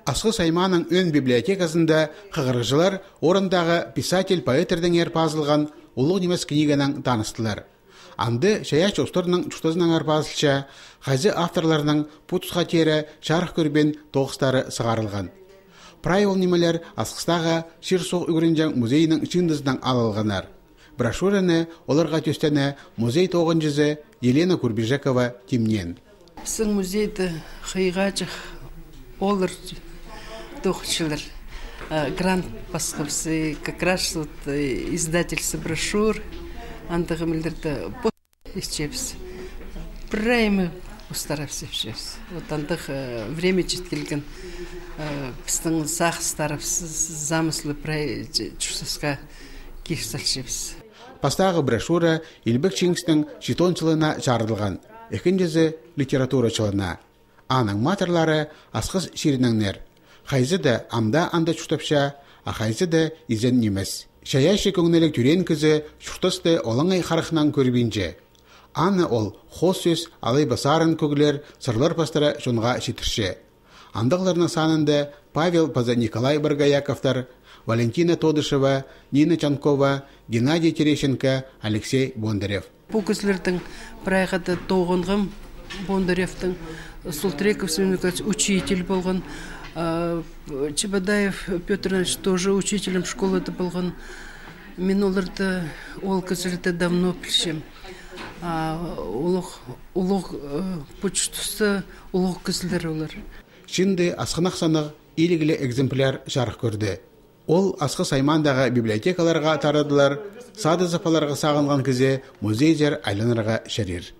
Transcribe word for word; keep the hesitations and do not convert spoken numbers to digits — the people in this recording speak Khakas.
Асхыс аймааның ӧӧн библиотеказында хығырығҷылар орындағы писатель-поэттердеңер пазылған улуғ нимес книганаң таныстылар. Анда чайаачы устарның чуртазынаңар пазылча, хайзы авторларның пу тусха теере чарых кӧрбеен тоғыстары сығарылған. Прай ол нимелер Асхыстағы чир-суғ ӱгренҷең музейнің чыындызынаң алылғаннар. Брошюраны оларға тӧстеен музей тоғынҷызы Елена Курбижекова тимнеен. Пістің музейде хыйғаҷах олар тоғынчалар. А, грант пасхабыс, и как раз вот, и издательство брошюр, андағ нимелерді пос итчебіс. Прай ниме постарапс итчебіс. Вот андағ, э, время чит килген, э, пістің сағыстарыбыс, замыслы прай ч-, чуртасха кир салчабыс. Пастағы брошюра Илбек Чиңістің читон чылына чарыдылған, ікінҷізі литература чылына. Аның матырлары Асхыс чирінеңнер. Хайзы даа ам даа анда чуртапча, а хайзы даа изен нимес. Чайаачы кӧңніліг тӧреен кізі чуртасты олаңай харахнаң кӧрбинче. Аны ол хоос сӧс алай ба сарын кӧглер, сырлар пастыра чонға читірче. Андағларның санында Павел паза Николай Боргояковтар, Валентина Тодышева, Нина Чанкова, Геннадий Терещенко, Алексей Бондарев. Пу кізілернің прайзы даа тоғынғам. Бондаревтің, Султреков Семен Николаевич учитель полған, а, Чебодаев Пётр Иванович тоже учителем школада полған. Мин оларды, ол кізілерні давно пілчем. А, улуғ, улуғ, э, пу чуртаста улуғ кізілер олар. Чыында асхынах саннығ иліглі экземпляр чарых кӧрді. Ол Асхыс аймаандағы библиотекаларға тарадылар, садызып аларға сағынған кізі музейзер айланарға чарир.